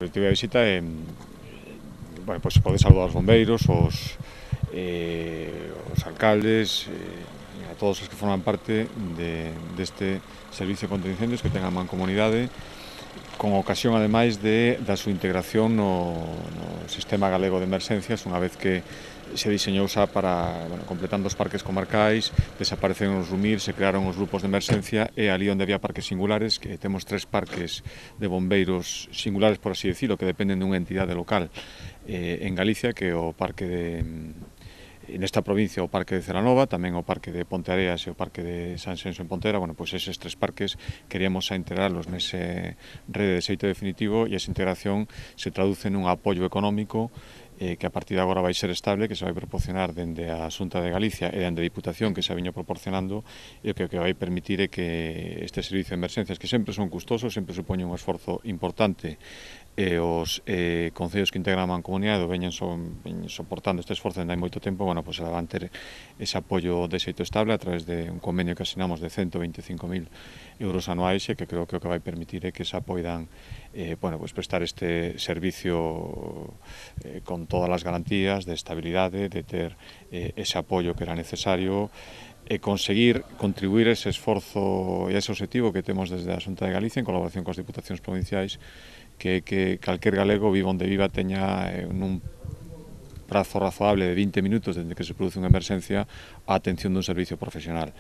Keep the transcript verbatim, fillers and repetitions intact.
obxectivo da visita é bueno, pois, poder saludar os bombeiros, os, eh, os alcaldes, eh, a todos os que forman parte de, deste servicio contra incendios que ten a Mancomunidade, con ocasión, ademais, de, da súa integración no, no Sistema Galego de Emerxencias, unha vez que se diseñou xa para, bueno, completando os parques comarcais, desapareceron os RUMIR, se crearon os grupos de emerxencia e ali onde había parques singulares, que temos tres parques de bombeiros singulares, por así decirlo, que dependen dunha entidade local eh, en Galicia, que é o parque de... nesta provincia o Parque de Celanova, tamén o Parque de Ponteareas e o Parque de San Xenxo en Pontera. Bueno, pois eses tres parques queríamos a integrarlos nese rede de xeito definitivo e esa integración se traduce nun apoio económico eh, que a partir de agora vai ser estable, que se vai proporcionar dende a Xunta de Galicia e dende a Diputación, que se viña proporcionando, e o que, que vai permitir é que este servicio de emerxencias, que sempre son custosos, sempre supoñen un esforzo importante, e os eh, concellos que integran a Mancomunidade veñen, son, veñen soportando este esforzo dende hai moito tempo, bueno, pois van ter ese apoio de xeito estable a través de un convenio que asinamos de cento veinticinco mil euros anuais e que creo que o que vai permitir é que se poidan eh, bueno, pois prestar este servicio eh, con todas as garantías de estabilidade, de ter eh, ese apoio que era necesario e conseguir contribuir ese esforzo e ese objetivo que temos desde a Xunta de Galicia en colaboración coas diputacións provinciais, que, que calquer galego, viva onde viva, teña eh, nun prazo razoable de vinte minutos desde que se produce unha emerxencia a atención dun servicio profesional.